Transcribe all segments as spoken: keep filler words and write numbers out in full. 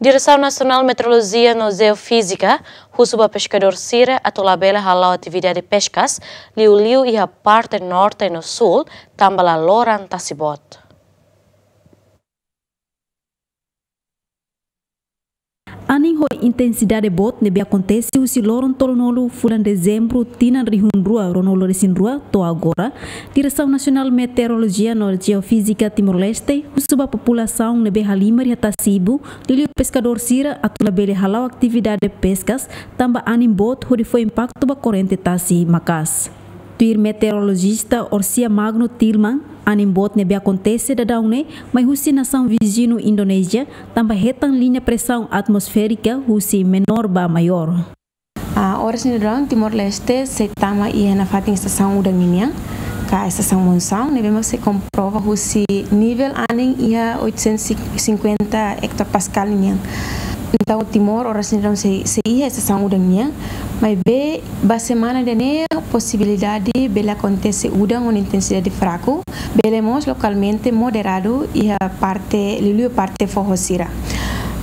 Diresaun Nasionál Meteorolojia no Jeofízika husu ba peskadór sira atu labele hala'o atividade peskas, liuliu iha parte norte no súl, tanba laloran tasi boot. Anin ho intensidade boot ne'ebé akontese husi loron tolunulu fulan Dezembru tinan rihun rua ruanulu resin rua to'o agora, Diresaun Nasionál Meteorolojia no Jeofízika Timor-Leste husu ba populasaun ne'ebé halimar iha tasi-ibun, liuliu peskadór sira, atu labele hala'o atividade peskas tanba anin boot hodi fó impaktu ba korrente tasi maka'as. Tuir meteorolojista Orsia Magno Tilman, anin boot ne'ebé akontese daudaun ne'e mai husi nasaun viziñu Indonézia, tanba hetan liña presaun atmosférika husi menór ba maiór. Ah, oras ne'e daudaun Timor-Leste sei tama iha nafatin estasaun udan ninian, ka estasaun monsaun, ne'ebé mak sei komprova husi nivel anin iha oitocentos e cinquenta hectopascal ninian. Entaun Timor oras ne'e daudaun sei, sei iha estasaun udan nian, maibé ba semana ida-ne'e posibilidade bele akontese udan ho intensidade fraku, bele mós lokalmente moderadu iha parte, liuliu parte foho sira.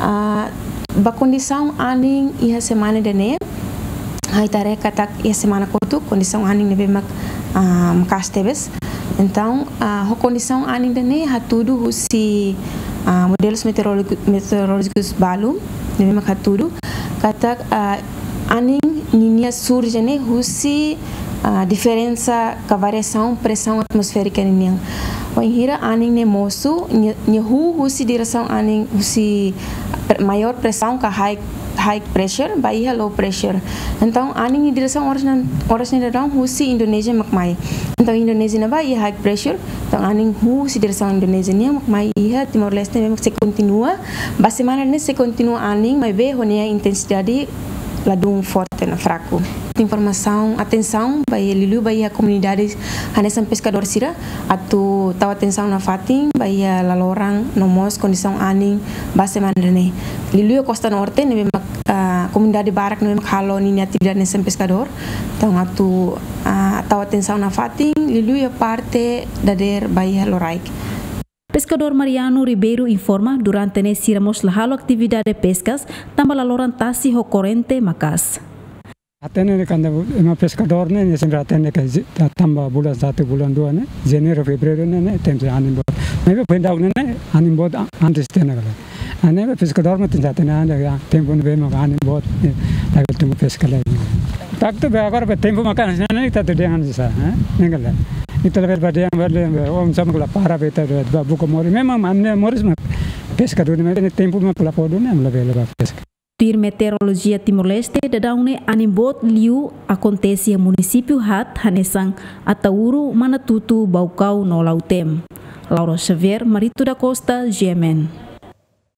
Ah, ba kondisaun anin iha semana ida-ne'e, ha'u haree katak iha semana kotuk kondisaun anin ne'ebé mak, ah, maka'as tebes. Entaun, ah, ho kondisaun anin ida-ne'e hatudu husi, ah, modelus meteorolójiku-, meteorolójikus balu ne'ebé mak hatudu katak, ah, anin ninia surje ne'e husi, ah, diferensa ka variasaun presaun atmosférika ninian. Wainhira anin ne'e mosu, nia, nia huu husi diresaun anin husi pre-, maiór presaun ka high, high pressure ba iha low pressure. Entaun anin nia diresaun oras ne'e, oras ne'e daudaun husi Indonézia mak mai. Entaun Indonézia ne'ebá iha high pressure, entaun anin huu husi diresaun Indonézia nian mak mai iha Timor-Leste, ne'ebé mak sei kontinua, ba semana ne'e sei kontinua anin, maibé ho nia intensidade ladún forte no fraku. Informasaun, atensaun ba iha, liuliu ba iha komunidade hanesan peskadór sira, atu tau atensaun nafatin ba iha laloran no mós kondisaun anin ba semana ne'e. Liuliu Kosta Norte ne'ebé mak, ah, komunidade barak ne'ebé mak halo ninia atividade hanesan peskadór, entaun atu, ah, tau atensaun nafatin, liuliu iha parte dadeer ba iha loraik. Peskadór Mariano Ribeiro informa, durante ne'e sira mós la halo atividade peskas, tanba laloran tasi ho korrente maka'as. Hatene ne'e kuandu ema peskadór ne'e, ne'e sempre hatene ke zi-, ta-, tanba bulan satu, bulan dua ne'e, Janeiru, Fevereiru ne'e, ne'e, tempu anin boot. Maibé foin daudaun ne'e, ne'e, anin boot a-, antes tiha ona karik. Ne'ebé peskadór mak tenke hatene anda ya, tempu ne'ebé mak anin boot, ne'e, la bele tun peska lai. Faktu be agora be tempu maka'as ne'e, ne'e, ita atu dehan sá, eh? Ne'e karik. Ita labele bá dehan, bá dehan, bá, oinsá mak la para be ita, bá, bá buka moris. Memang anin moris mak peskadór ne'e, tempu mak la pode ne'e, labele bá peska. Tuir Meteorolojia Timor-Leste, daudaun ne'e anin boot liu akontese iha munisípiu haat hanesan Ataúro, Manatuto, Baucau no Lautém. Laura Xavier, Marito da Costa, G M N.